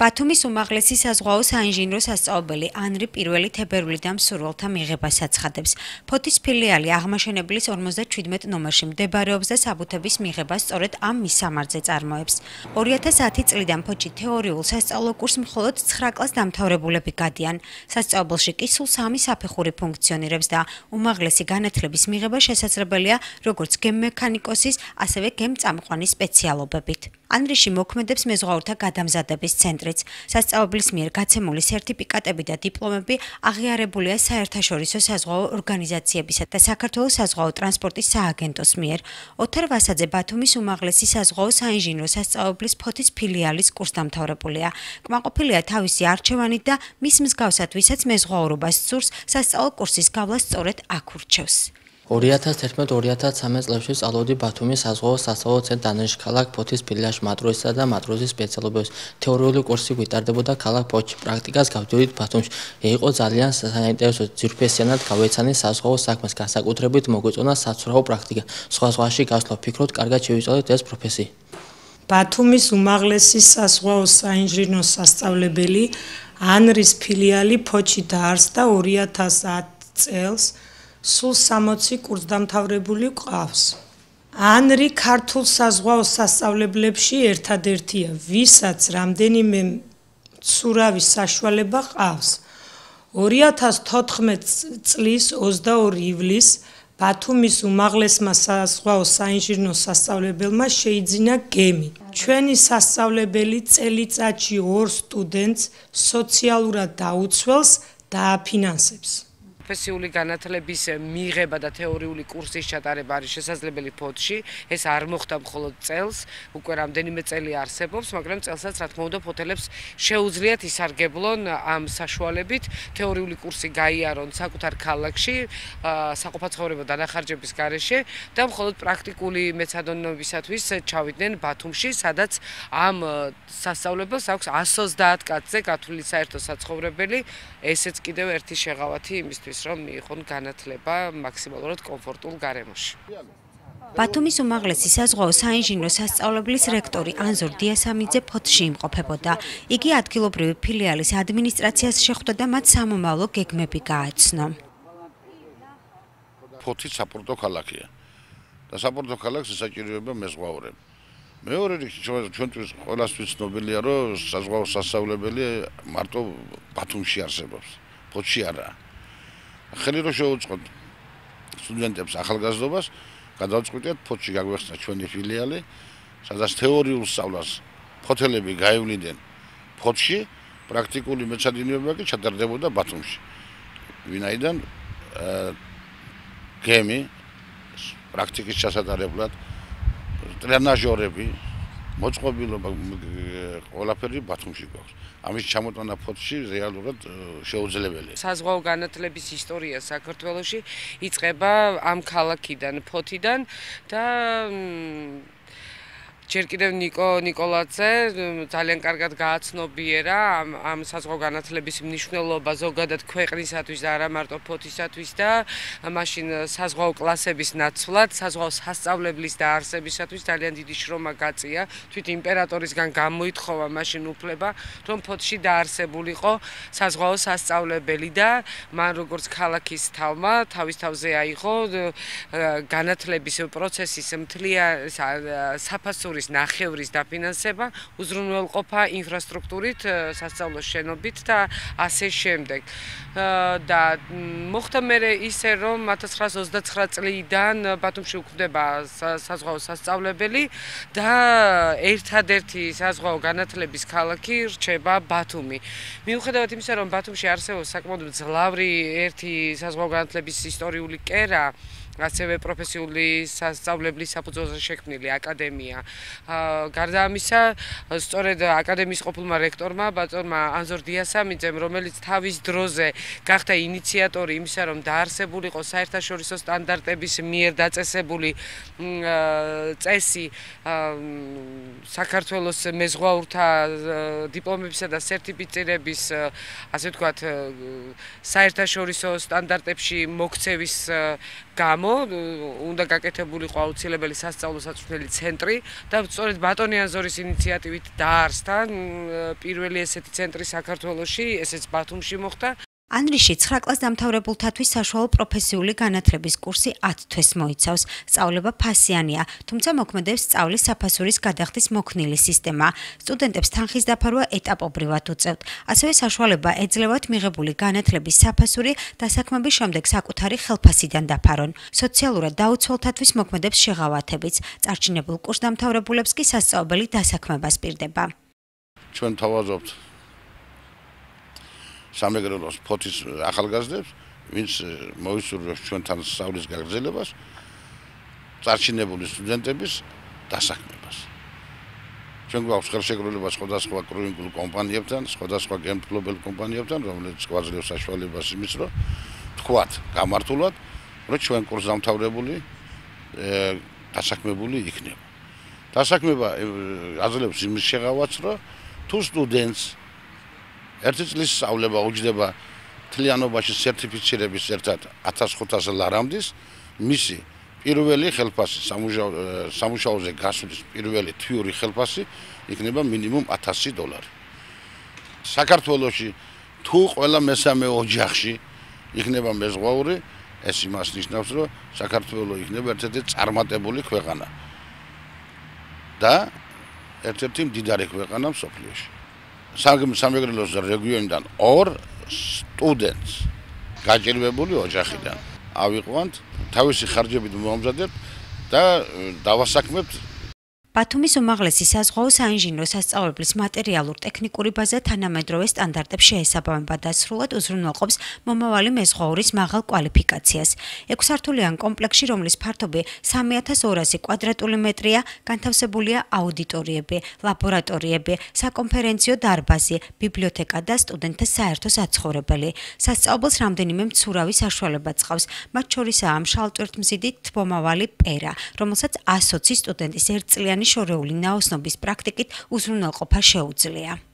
ბათუმის უმაღლესი საზღვაო საინჟინრო სასწავლებელი ანრი პირველი თებერვლიდან მსურველთა მიღებას აცხადებს. ფოთის ფილიალი აღმაშენებლის 57 ნომერში მდებარეობს და საბუთების მიღება სწორედ ამ მისამართზე წარმოებს. 2010 წლიდან ფოთში თეორიულ სასწავლო კურსს მხოლოდ 9 კლას დამთავრებულები გადიან. სასწავლებელში კი სულ 3 საფეხური ფუნქციონირებს და უმაღლესი განათლების მიღება შესაძლებელია როგორც გემმექანიკოსის, ასევე გემწამყვანის სპეციალობებით. ანრიში მოქმედებს მეზღვაურთა გადამზადების ცენტრიც. სასწავლებლის მიერ გაცემული სერტიფიკატები და დიპლომები აღიარებულია საერთაშორისო საზღვაო ორგანიზაციებისა და საქართველოს საზღვაო ტრანსპორტის სააგენტოს მიერ. ოთარ ვასაძე ბათუმის უმაღლესი საზღვაო საინჟინრო სასწავლებლის ფოთის ფილიალის კურსდამთავრებულია. კმაყოფილია თავისი არჩევანით და მის მსგავსად, ვისაც მეზღვაურობას სურს, სასწავლო კურსის გავლა სწორედ აქ ურჩევს. 2011-2013 წლებში სწავლობდი ბათუმის საზღვაო სასწავლო ცენტრ ანრიში ქალაქ ფოთის ფილიალში მატროსისა და მატროსის სპეციალობების თეორიული კურსი ვითარდებოდა ქალაქ ფოთში. პრაქტიკას გავდივდით ბათუმში. იყო ძალიან საინტერესო, ძვირფესიანად გავეცანი საზღვაო საქმეს, განსაკუთრებით მოგვეწონა საცურაო პრაქტიკა. სხვა-სხვაში გასვლა ვფიქრობთ, კარგად შევიწოდეთ ეს პროფესია. ბათუმის უმაღლესი საზღვაო საინჟინრო სასწავლებელი ანრის ფილიალი ფოთში დაარსდა 2010 წელს. სულ 60 კურსდამთავრებული ყავს. ანრი ქართულ საზღვაო სასწავლებლებში ერთადერთია, ვისაც რამდენიმე მცურავი საშუალება ყავს. 2014 წლის 22 ივლისს ბათუმის უმაღლესმა საზღვაო საინჟინრო სასწავლებელმა შეიძინა გემი. ჩვენი სასწავლებელი წელიწადში 2 სტუდენტს სოციალურად დაუცველს დააფინანსებს. პროფესიული განათლების მიღება და თეორიული კურსის ჩატარება არის შესაძლებელი ფოთში. ეს არ მოხდა მხოლოდ წელს, უკვე რამდენიმე წელი არსებობს, მაგრამ წელსაც რა თქმა უნდა ფოთელებს შეუძლიათ ისარგებლონ ამ საშუალებით, თეორიული კურსი გაიარონ საკუთარ ქალაქში, საყოფაცხოვრებო დანახარჯების გარეშე და მხოლოდ პრაქტიკული მეცადონნობისათვის ჩავიდნენ ბათუმში, სადაც ამ სასწავლებელს აქვს 130 კაცზე გათვლილი საერთო საცხოვრებელი, ესეც კიდევ ერთი შეღავათი იმისთვის, რომ მიიღონ განათლება მაქსიმალურად კომფორტულ გარემოში. ბათუმის უმაღლესი საზღვაო საინჟინრო სასწავლებლის რექტორი ანზორ დიასამიძე ფოთში იმყოფებოდა. იგი ადგილობრივი ფილიალის ადმინისტრაციას შეხვდა და მათ სამომავლო გეგმები გააცნო. ფოთი საპორტო ქალაქია და საპორტო ქალაქს ესაჭიროება მეზღვაურები. მეორე რიგში ჩვენთვის ყველასთვის ცნობილია, რომ საზღვაო სასწავლებელი მარტო ბათუმში არსებობს, ფოთში არაა. ხელი რომ შევუწყოთ სტუდენტებს ახალგაზრდობას, გადავწყვიტეთ ფოთში გაგვეხსნა ჩვენი ფილიალი, სადაც თეორიულ სწავლას ფოთელები გაევლინდნენ ფოთში, პრაქტიკული მეცადინეობა კი ჩატარდებოდა ბათუმში. ვინაიდან გემი პრაქტიკის ჩასატარებლად ტრენაჟორები, მოწყობილობა ყველაფერი ბათუმში გვაქვს. ამის ჩამოტანა ფოთში რეალურად შეუძლებელია. საზღვაო განათლების ისტორია საქართველოში იწყება ამ ქალაქიდან, ფოთიდან და ჯერ კიდევ ნიკოლაძე ძალიან კარგად გააცნობიერა ამ საზღვაო განათლების მნიშვნელობა ზოგადად ქვეყნისათვის და არა მარტო ფოთისათვის და მაშინ საზღვაო კლასების ნაცვლად, საზღვაო სასწავლებლის დაარსებისათვის ძალიან დიდი შრომა გაწია. თვით იმპერატორისგან გამოითხოვა მაშინ უფლება, რომ ფოთში დაარსებულიყო საზღვაო სასწავლებელი და მან როგორც ქალაქის თავმა თავის თავზე აიღო განათლების პროცესის საფასურის ნახევრის დაფინანსება, უზრუნველყოფა ინფრასტრუქტურით, სასწავლო შენობით და ასე შემდეგ. და მოხდა მერე ისე, რომ 1929 წლიდან ბათუმში უქმდება საზღვაო სასწავლებელი და ერთადერთი საზღვაო განათლების ქალაქი რჩება ბათუმი. მიუხედავად იმისა, რომ ბათუმში არსებობს საკმაოდ მძლავრი ერთი საზღვაო განათლების ისტორიული კერა, ასევე პროფესიული სასწავლებლის საფუძველზე შექმნილი აკადემია. გარდა ამისა, სწორედ აკადემიის ყოფილმა რექტორმა, ბატონმა ანზორ დიასამიძემ, რომელიც თავის დროზე გახდა ინიციატორი იმისა, რომ დაარსებულიყო საერთაშორისო სტანდარტების მიერ დაწესებული წესი საქართველოს მეზღვაურთა დიპლომებისა და სერტიფიცირების, ასე ვთქვათ, საერთაშორისო სტანდარტებში მოქცევის გამო უნდა გაკეთებულიყო აუცილებელი სასწავლო საწვრთნელი ცენტრი და სწორედ ბატონი აზორის ინიციატივით დაარსდა პირველი ესეთი ცენტრი საქართველოში, ესეც ბათუმში მოხდა. ანრიში 9 კლას დამთავრებულთათვის საშუალო პროფესიული განათლების კურსი 10 თვეს მოიცავს. სწავლება ფასიანია, თუმცა მოქმედებს სწავლის საფასურის გადახდის მოქნილი სისტემა. სტუდენტებს თანხის დაფარვა ეტაპობრივად უწევთ. ასევე საშუალება ეძლევათ მიღებული განათლების საფასური დასაქმების შემდეგ საკუთარი ხელფასიდან დაფარონ. სოციალურად დაუცველთათვის მოქმედებს შეღავათებიც. წარჩინებულ კურს დამთავრებულებს კი სასწავლებელი დასაქმება სპირდება. ჩვენ თავაზობთ სამეგრელოს ფოთის ახალგაზრდებს, ვინც მოისურვებს ჩვენთან სწავლის გაგრძელებას, წარჩინებული სტუდენტების დასაქმებას. ჩვენ გვაქვს ხელშეკრულება სხვადასხვა კრუინგულ კომპანიებთან, სხვადასხვა გემთმფლობელ კომპანიებთან, რომელიც გვაძლევს საშუალებას იმის, რომ თქვათ გამართულად, რომ ჩვენ კურს დამთავრებული დასაქმებული იქნება. დასაქმება აძლევს იმის შეღავათს, რომ თუ სტუდენტს ერთი წლის სწავლება უჯდება მთლიანობაში სერტიფიცირების ერთად 1500 ლარამდის, მისი პირველი ხელფასი სამუშაოზე გასვლის პირველი თვიური ხელფასი იქნება მინიმუმ $1000. საქართველოში თუ ყველა მესამე ოჯახში იქნება მეზღვაური, ეს იმას ნიშნავს, რომ საქართველო იქნება ერთ-ერთი წარმატებული ქვეყანა და ერთ-ერთი მდიდარი ქვეყანა მსოფლიოში. სამეგრელოს რეგიონიდან 2 სტუდენტს გაჭირვებული ოჯახიდან ავიყვანთ, თავისი ხარჯებით მომამზადებთ და დავასაქმებთ. ბათუმის უმაღლესი საზღვაო საინჟინრო სასწავლებლის მატერიალურ-ტექნიკური ბაზა თანამედროვე სტანდარტებს შეესაბამება და სრულად უზრუნველყოფს მომავალი მეზღვაურის მაღალ კვალიფიკაციას. 6 სართულიან კომპლექსში, რომლის ფართობი 3200 კვადრატული მეტრია, განთავსებულია აუდიტორიები, ლაბორატორიები, საკონფერენციო დარბაზი, ბიბლიოთეკა და სტუდენტთა საერთო საცხოვრებელი. სასწავლებელს რამდენიმე მცურავი საშუალება წყავს, მათ შორისაა მშალტვირთმზიდი თბომავალი პერა, რომელსაც 120 სტუდენტის ერთწლიანი შორეული ნაოსნობის პრაქტიკით უზრუნველყოფა შეუძლია.